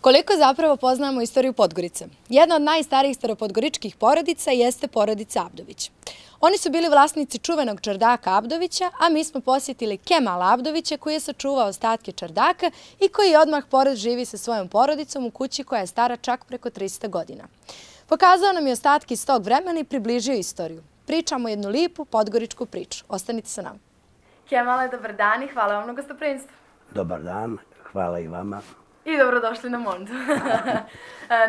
Koliko zapravo poznamo istoriju Podgorice? Jedna od najstarijih staropodgoričkih porodica jeste porodica Abdović. Oni su bili vlasnici čuvenog čardaka Abdovića, a mi smo posjetili Kemala Abdovića koji je sačuvao ostatke čardaka i koji odmah pored živi sa svojom porodicom u kući koja je stara čak preko 300 godina. Pokazao nam je ostatke iz tog vremena i približio istoriju. Pričamo jednu lijepu podgoričku priču. Ostanite sa nama. Kemale, dobar dan i hvala vam na gostoprimstvu. Dobar dan, hvala i vama. I dobrodošli na Mondu.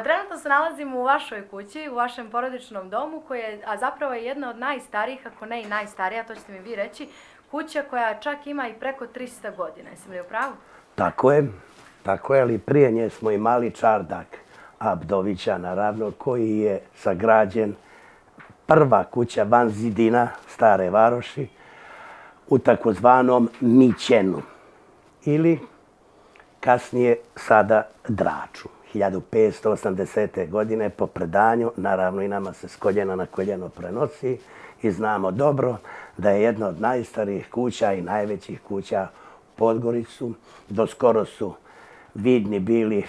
Trenutno se nalazimo u vašoj kući, u vašem porodičnom domu, a zapravo je jedna od najstarijih, ako ne i najstarija, to ćete mi vi reći, kuća koja čak ima i preko 300 godina. Jesam li u pravu? Tako je, ali prije nje smo imali čardak Abdovića, naravno, koji je sagrađen prva kuća van zidina Stare Varoši u takozvanom Mićenu ili kasnije sada Draču. 1580. godine po predanju, naravno i nama se s koljena na koljeno prenosi i znamo dobro da je jedna od najstarijih kuća i najvećih kuća u Podgoricu. Doskoro su vidni bili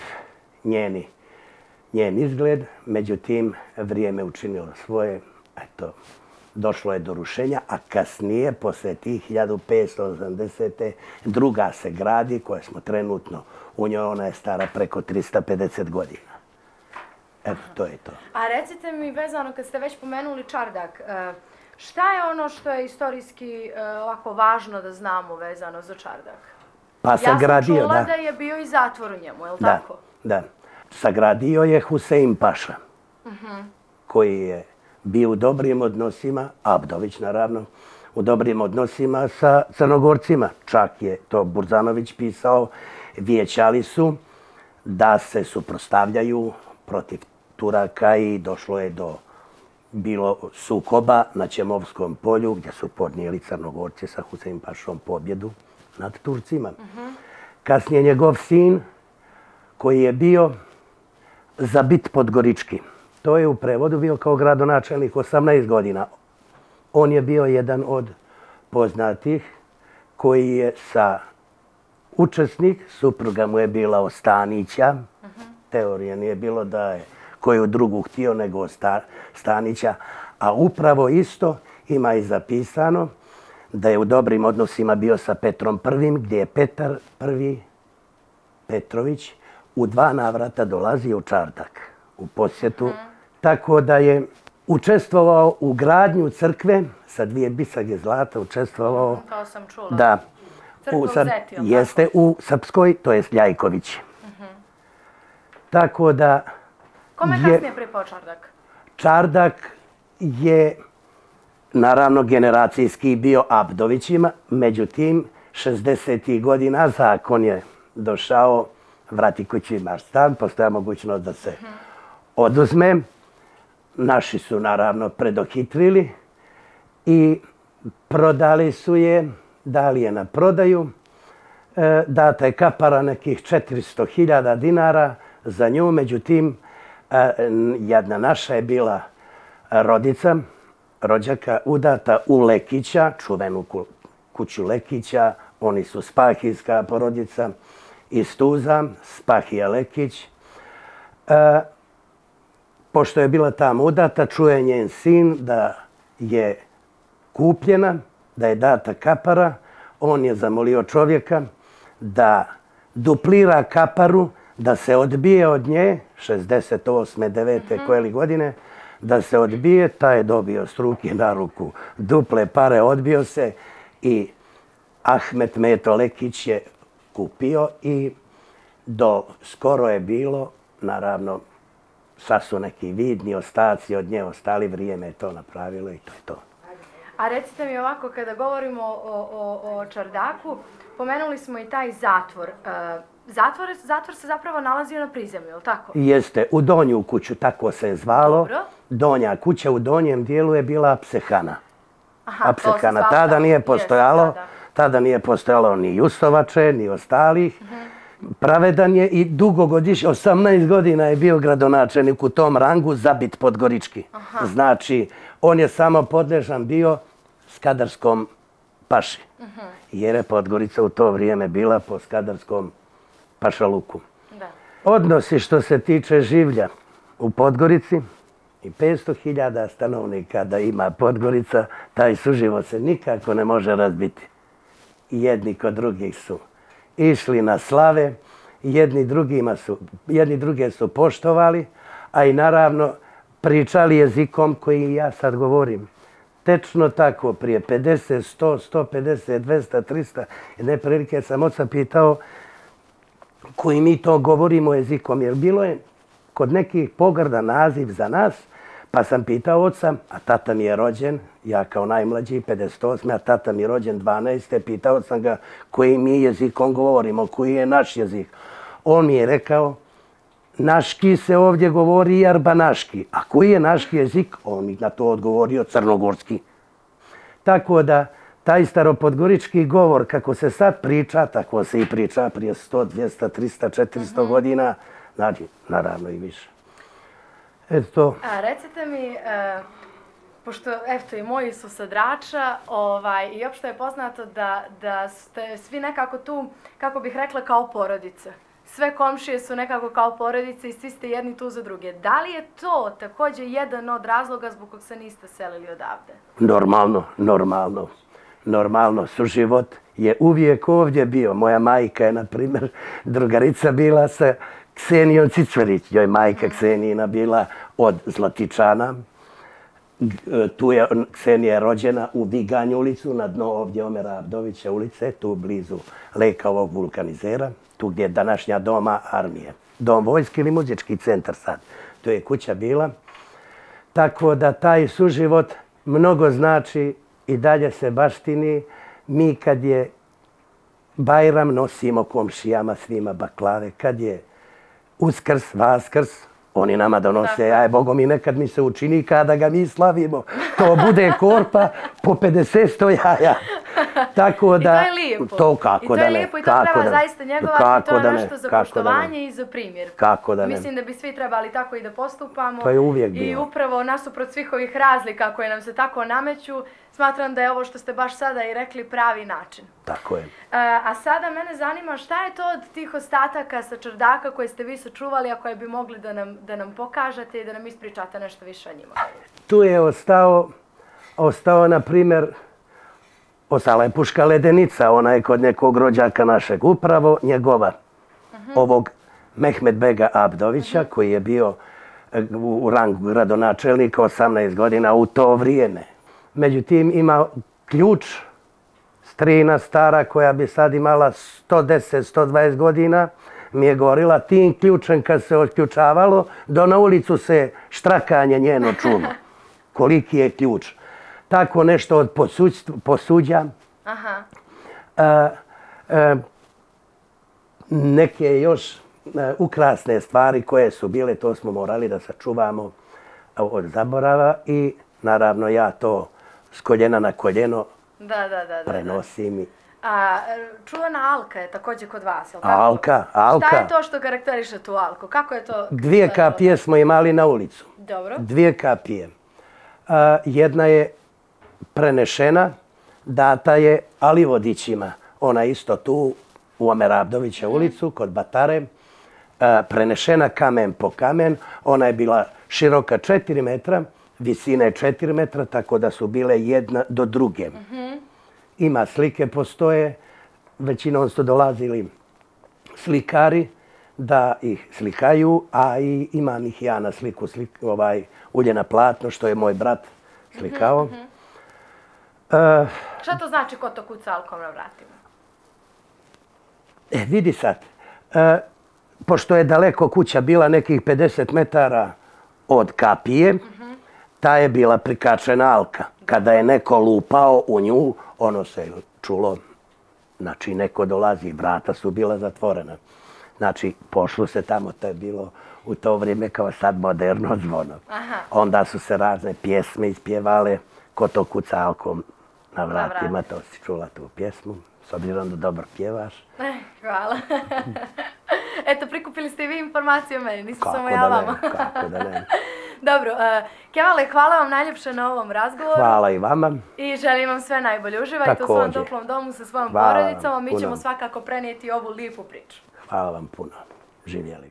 njen izgled, međutim vrijeme učinilo svoje, eto, došlo je do rušenja, a kasnije, posle tih 1580. druga se gradi, koja smo trenutno u njoj, ona je stara preko 350 godina. Eto, to je to. A recite mi, vezano kad ste već pomenuli čardak, šta je ono što je istorijski ovako važno da znamo vezano za čardak? Pa sagradio, ja sam čula da je bio i zatvor u njemu, je li tako? Da. Sagradio je Husein Paša, koji je bio u dobrim odnosima, Abdović naravno, u dobrim odnosima sa Crnogorcima. Čak je to Burzanović pisao, vijećali su da se suprotstavljaju protiv Turaka i došlo je do bilo sukoba na Ćemovskom polju gdje su podnijeli Crnogorci sa Husein Pašom pobjedu nad Turcima. Kasnije njegov sin, koji je bio zabit Podgorički. To je u prevodu bio kao gradonačelnik 18 godina. On je bio jedan od poznatih koji je učesnik, supruga mu je bila Ostanića. Teorija nije bilo da je koju drugu htio nego Stanića. A upravo isto ima i zapisano da je u dobrim odnosima bio sa Petrom I, gdje je Petar I Petrović u 2 navrata dolazio u čardak u posjetu. Tako da je učestvovao u gradnju crkve sa 2 bisage zlata, učestvovao. To sam čula. Da. Crkva u Zeti, ili jeste u Srpskoj, to je Ljajković. Tako da... Kome je kasnije pripao čardak? Čardak je naravno generacijski bio Abdovićima, međutim 60. godina zakon je došao, vrati kući imaš stan, postoja mogućnost da se oduzme. Naši su naravno predohitrili i prodali su je, dali je na prodaju. Data je kapara nekih 400.000 dinara za nju, međutim jedna naša je bila rođaka udata u Lekića, čuvenu kuću Lekića. Oni su spahijska porodica iz Tuza, Spahija Lekić. Pošto je bila tamo udata, čuje njen sin da je kupljena, da je data kapara. On je zamolio čovjeka da duplira kaparu, da se odbije od nje, 68. 9. koje li godine, da se odbije, taj je dobio s ruke na ruku duple pare, odbio se i Ahmet Meto Lekić je kupio i do skoro je bilo, naravno, sad su neki vidni ostaci od nje ostali, vrijeme je to napravilo i to je to. A recite mi ovako, kada govorimo o čardaku, pomenuli smo i taj zatvor. Zatvor se zapravo nalazio na prizemlju, je li tako? Jeste, u Donju kuću, tako se je zvalo. Dobro. Donja kuća u donjem dijelu je bila apsehana. Apsehana to tada nije postojalo. Tada nije postojalo ni Justovače, ni ostalih. Pravedan je i dugogodišnji, 18 godina je bio gradonačelnik u tom rangu, zabit Podgorički. Znači, on je samo podležan bio Skadarskom paši. Jer je Podgorica u to vrijeme bila po Skadarskom pašaluku. Odnosi što se tiče življa u Podgorici i 500.000 stanovnika da ima Podgorica, taj suživot se nikako ne može razbiti. Jedni kod drugih su išli na slave, jedni druge su poštovali, a i naravno pričali jezikom koji ja sad govorim. Tečno tako, prije 50, 100, 150, 200, 300, jedne prilike sam oca pitao koji mi to govorimo jezikom, jer bilo je kod nekih pogrda naziv za nas, pa sam pitao oca, a tata mi je rođen, ja kao najmlađi, 58, a tata mi je rođen 12. Pitao sam ga koji mi jezikom govorimo, koji je naš jezik. On mi je rekao, naški se ovdje govori i arbanaški. A koji je naški jezik? On mi na to odgovorio crnogorski. Tako da, taj staropodgorički govor, kako se sad priča, tako se i priča prije 100, 200, 300, 400 godina, znači, naravno i više. Eto. A recite mi, pošto, eto, i moji su sa Drača, i opšto je poznato da ste svi nekako tu, kako bih rekla, kao porodica. Sve komšije su nekako kao porodice i svi ste jedni tu za druge. Da li je to također jedan od razloga zbog kog se niste selili odavde? Normalno. Suživot je uvijek ovdje bio. Moja majka je, na primjer, drugarica bila sa Ksenijom Cicverić. Joj majka Ksenijina bila od Zlatičana. Tu je Ksenija rođena u Viganj ulicu, na dno ovdje Omera Abdovića ulice, tu blizu leka ovog vulkanizera, tu gdje je današnja doma armije. Dom vojske ili muzički centar sad. To je kuća bila. Tako da taj suživot mnogo znači i dalje se baštini. Mi kad je Bajram nosimo komšijama svima baklave, kad je Uskrs, Vaskrs, oni nama donose, aj Bogom i nekad mi se učini kada ga mi slavimo. To bude korpa po 50-100 jaja. Tako da, I to je lijepo. To kako da ne. I to je lijepo i to treba zaista njegovati, to je nešto za poštovanje i za primjer. Kako da ne. Mislim da bi svi trebali tako i da postupamo. To je uvijek bilo. I upravo nasuprot svih ovih razlika koje nam se tako nameću, smatram da je ovo što ste baš sada i rekli pravi način. Tako je. A sada mene zanima šta je to od tih ostataka sa čardaka koje ste vi sačuvali, a koje bi mogli da nam pokažete i da nam ispričate nešto više o njima? Tu je ostao na primjer, ostala je puška Ledenica, ona je kod nekog rođaka našeg, upravo njegova, ovog Mehmed Bega Abdovića, koji je bio u rangu gradonačelnika 18 godina u to vrijeme. Međutim, ima ključ, strina stara koja bi sad imala 110-120 godina, mi je govorila, tim ključem kad se otključavalo, do na ulicu se štrakanje njeno čulo. Koliki je ključ. Tako nešto od posuđa. Neke još ukrasne stvari koje su bile, to smo morali da sačuvamo od zaborava i naravno ja to s koljena na koljeno prenosim. A čuvena Alka je također kod vas, je li tako? Alka. Šta je to što karakteriše tu Alku? Kako je to? 2 kapije smo imali na ulicu. Dobro. 2 kapije. Jedna je prenešena, data je Alivodićima. Ona isto tu u Omera Abdovića ulicu, kod Batare. Prenešena kamen po kamen. Ona je bila široka 4 metra, visine 4 metra, tako da su bile jedna do druge. Ima slike, postoje. Većinom su dolazili slikari da ih slikaju, a i imam ih ja na sliku, ulje na platno, što je moj brat slikao. Šta to znači ko to kuca alkom na vratima? Vidi sad, pošto je daleko kuća bila nekih 50 metara od kapije, ta je bila prikačena alka. Kada je neko lupao u nju, ono se čulo, znači neko dolazi, vrata su bila zatvorena. Znači, pošlo se tamo, to je bilo u to vrijeme kao sad moderno zvono. Onda su se razne pjesme ispjevale, ko to kuca alkom na vratima, to si čula tu pjesmu, s obzirom da dobro pjevaš. Hvala. Eto, prikupili ste i vi informacije o meni, nisam samo ja vama. Kako da ne. Dobro, Kemale, hvala vam najljepše na ovom razgovoru. Hvala i vama. I želim vam sve najbolje. Uživajte u svom toplom domu sa svojom porodicom, a mi ćemo svakako prenijeti ovu lijepu priču. Hvala vam puno. Živjeli.